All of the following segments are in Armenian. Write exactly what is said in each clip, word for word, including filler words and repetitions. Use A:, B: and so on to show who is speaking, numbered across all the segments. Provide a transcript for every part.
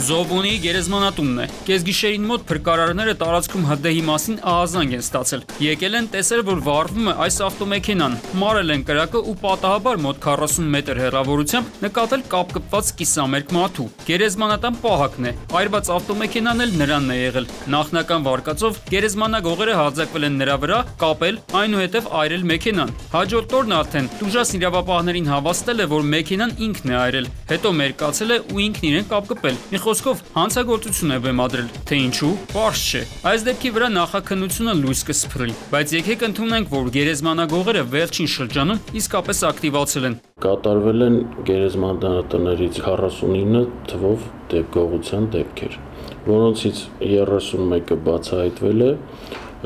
A: Զոբունի գերեզմանատունն է։ Կեսգիշերին մոտ փրկարարները տարածքում հրդեհի մասին ահազանգ են ստացել։ Եկել են տեսել, որ վառվում է այս ավտոմեքենան, մարել են կրակը ու պատահաբար մոտ քառասուն մետր հեռավորությամբ նկատել կապկպված կիսամերկ մարդու։ Գերեզմանատան պահակն է, այրված ավտոմեքենան էլ նրանն է եղել։ Նախնական վարկածով գերեզմանագողերը հարձակվել են նրա վրա, կապել, այնուհետև այրել մեքենան։ Հաջորդ օրն արդեն տուժած իրավապահներին հավաստել է, որ մեքենան ինքն է այրել, հետո մերկացել է ու ինքն իրեն կապկպել։ Մի խոսքով հանցագործություն է բեմադրել, թե ինչու, պարզ չէ։ Այս դեպքի վրա նախաքննությունը լույս կսփռի, բայց եկեք ընդունենք, որ գերեզմանագողերը վերջին շրջանում իսկապես ակտիվացել են։
B: Կատարվել են գերեզմանատներից քառասունինը թվով գողության դեպքեր, որոնցից երեսունմեկը բացահայտվել է,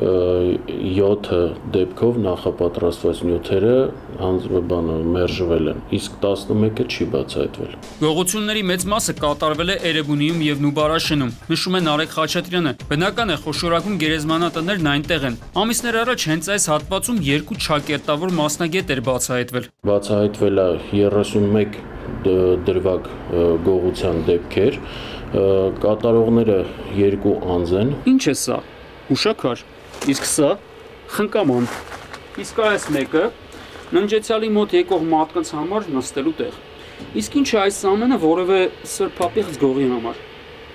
B: յոթը դեպքով նախապատրաստված նյութերը մերժվել են, իսկ տասնմեկը չի բացահայտվել։
A: Գողությունների մեծ մասը կատարվել է Էրեբունիում և Նուբարաշենում, նշում է Նարեկ Խաչատրյանը։ Բնական է, խոշորագույն գերեզմանատներն այնտեղ են։ Ամիսներ առաջ հենց այս հատվածում երկու չակերտավոր մասնագետ էր բացահայտվել։
B: Բացահայտվել է երեսունմեկ դրվագ գողության դեպքեր, կատարողները երկու անձ են։
A: Ինչ է սա։ Ուշաքար։ Իսկ սա խնկաման։ Իսկ այս մեկը ննջեցյալի մոտ եկող մարդկանց համար նստելու տեղ։ Իսկ ինչ է այս ամենը որևէ սրբապիղծ գողի համար։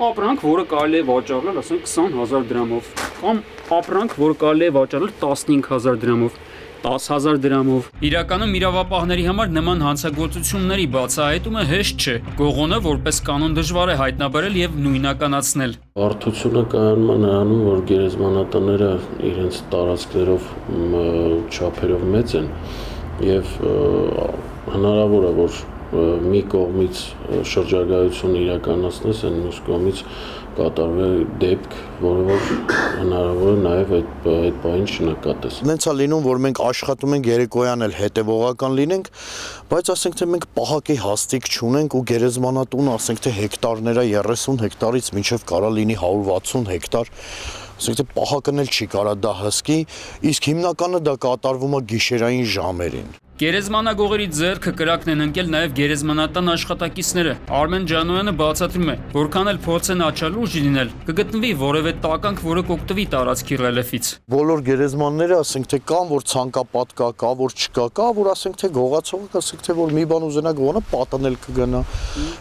A: Ապրանք, որը կարելի է վաճառել, ասենք քսան հազար դրամով, կամ ապրանք, որը կարելի է վաճառել տասնհինգ հազար դրամով, տասը հազար դրամով։ Իրականում իրավապահների համար նման հանցագործությունների բացահայտումը հեշտ չէ։ Գողոնը որպես կանոն դժվար է հայտնաբերել եւ նույնականացնել։
B: Բարդությունը կայանում է նրանում, որ գերեզմանատները իրենց տարածքներով չափերով մեծ են եւ հնարավոր է, որ մի կողմից շրջագայություն իրականացնես, այն մյուս կողմից կատարվել դեպք, որը որ հնարավոր է նաև այդ այդ բանին չնկատես։
C: Նենց է լինում, որ մենք աշխատում ենք երեկոյան էլ հետևողական լինենք, բայց ասենք թե մենք պահակի հաստիկ չունենք ու գերեզմանատուն, ասենք թե հեկտարները երեսուն հեկտարից մինչև կարա լինի հարյուր վաթսուն հեկտար, ասենք թե պահակն էլ չի կարա դա հսկի, իսկ հիմնականը դա կատարվում է գիշերային ժամերին։
A: Գերեզմանագողերի ձեռքը կրակն են ընկել նաև գերեզմանատան աշխատակիցները։ Արմեն Ջանոյանը բացատրում է, որքան էլ փորձեն աչալուրջ լինել, կգտնվի որևէ տականք, որը կօգտվի տարածքի ռելիեֆից։
C: Բոլոր գերեզմանները ասենք թե կան, որ ցանկապատ կա, կա, որ չկա, կա, որ ասենք թե գողացողը, ասենք թե որ մի բան ուզենա գողանա, պատանել կգնա։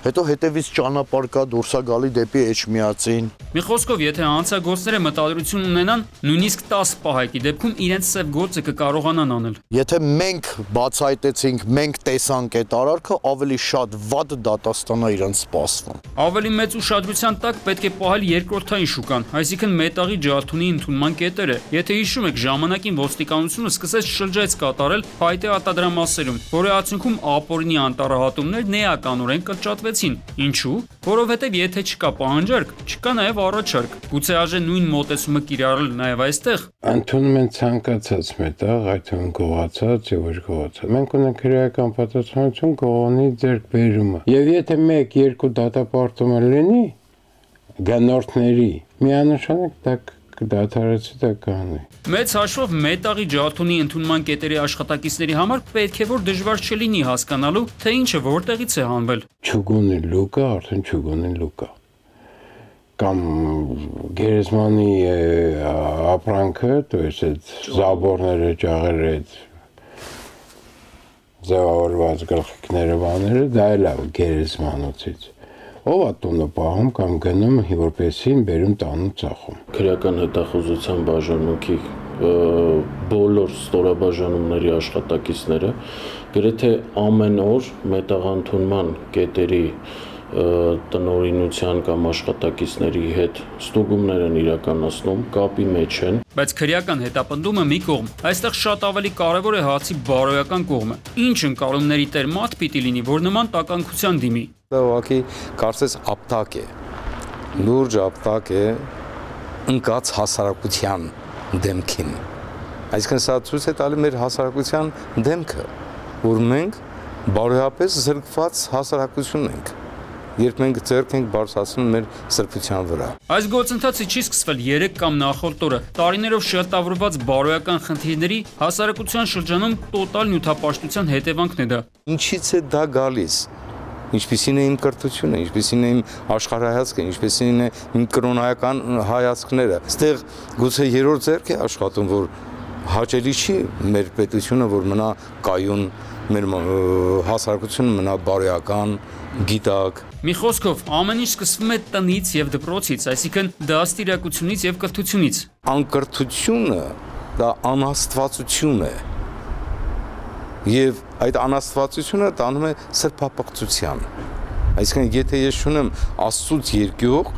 C: Հետո հետևից ճանապարհ կա, դուրս է գալի դեպի Էջմիածին։
A: Մի խոսքով, եթե հանցագործները մտադրություն ունենան, նույնիսկ տասը պահակի դեպքում իրենց սև գործը կկարողանան անել։
C: Եթե մենք բացահայտեցինք, մենք տեսանք այդ արարքը, ավելի շատ վատ դատաստան է իրենց սպասվում։
A: Ավելի մեծ ուշադրության տակ պետք է պահել երկրորդային շուկան, այսինքն մետաղի ջարդունի ընդունման կետերը։ Եթե հիշում եք, ժամանակին ոստիկանությունը սկսեց շրջայց կատարել փայտե արտադրամասերում, որի արդյունքում ապօրինի անտառահատումներն էականորեն կրճատվեցին։ Ինչու՞։ Որովհետև եթե չկա պահանջարկ, չկա նաև առաջարկ։ Գուցե արժե նույն մոտեցումը կիրառել նաև այստեղ։
D: Ընդունում են ցանկացած մետաղ, այդ թվում գողացած եւ ոչ գողացած։ Մենք ունենք քրեական պատասխանատվություն գողոնի ձեռքբերումը։ Եվ եթե մեկ-երկու դատապարտում լինի գնորդների, միանշանակ դա կդադարեցի դա կանի։
A: Մեծ հաշվով մետաղի ջարդունի ընդունման կետերի աշխատակիցների համար պետք է որ դժվար չլինի հասկանալու, թե ինչը որտեղից է հանվել։
D: Չուգունի լուկա, արդեն չուգունի լուկա։ Կամ գերեզմանի ապրանքը, то есть այդ զաբորները, ճաղերը, այդ ձևավորված գլխիկները, բաները, դա էլ է գերեզմանոցից։ Ով է տունը պահում կամ գնում որպեսին բերում տանում ծախում։
B: Քրեական հետախուզության բաժանմունքի բոլոր ստորաբաժանումների աշխատակիցները գրեթե ամեն օր մետաղընդունման կետերի տնօրինության կամ աշխատակիցների հետ ստուգումներ են իրականացնում, կապի մեջ են։
A: Բայց քրեական հետապնդումը մի կողմ, այստեղ շատ ավելի կարևոր է հացի բարոյական կողմը։ Ինչ ընկալումների տեր մարդ պիտի լինի, որ նման տականքության դիմի։
E: Դա ուղղակի կարծես ապտակ է, լուրջ ապտակ է ընկած հասարակության դեմքին։ Այսինքն սա ցույց է տալի մեր հասարակության դեմքը, որ մենք բարոյապես զրկված հասարակություն ենք։ Երբ մենք ձեռք ենք բարձրացնում մեր սրբության վրա։
A: Այս գործընթացը չի սկսվել երեք կամ նախորդ օրը։ Տարիներով շերտավորված բարոյական խնդիրների հասարակության շրջանում տոտալ նյութապաշտության հետևանքն է դա։
E: Ինչից է դա գալիս։ ինչպիսին է իմ կրթությունը, ինչպիսին է իմ աշխարհայացքը, ինչպիսին է իմ կրոնայական հայացքները։ Այստեղ գուցե երրորդ ձեռք է աշխատում, որ հաճելի չի մեր պետությունը, որ մնա կայուն, մեր հասարակությունը մնա բարոյական, գիտակ։
A: Մի խոսքով, ամեն ինչ սկսվում է տնից եւ դպրոցից, այսինքն դաստիարակությունից եւ կրթությունից։
E: Անկրթությունը դա անաստվածություն է։ Եվ այդ անաստվածությունը տանում է սրբապղծության։ Այսինքն, եթե ես չունեմ Աստծուց երկյուղ,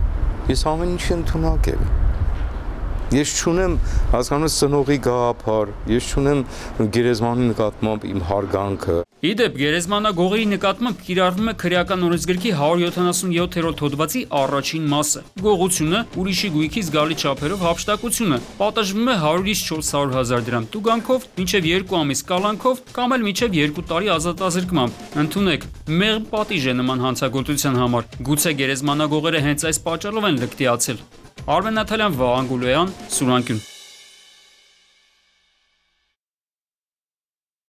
E: ես ամեն ինչ ընդունակ եմ։ Ես չունեմ, հասկանում ես, ծնողի գաղափար, ես չունեմ գերեզմանի նկատմամբ իմ հարգանքը։
A: Իդեպ, գերեզմանագողերի նկատմամբ կիրառվում է քրեական օրենսգրքի հարյուր յոթանասունյոթերորդ հոդվածի առաջին մասը։ Գողությունը, ուրիշի գույքի զգալի չափերով հափշտակությունը, պատժվում է հարյուրից չորս հարյուր հազար դրամ տուգանքով, մինչև երկու ամիս կալանքով կամ էլ մինչև երկու տարի ազատազրկմամբ։ Ընդունեք, մեղմ պատիժ է նման հանցագործության համար։ Գուցե գերեզմանագողերը հենց այս պատճառով են լկտիացել։ Արմեն Նաթալյան, Վաղան Գուլոյան, Սուրանկյուն։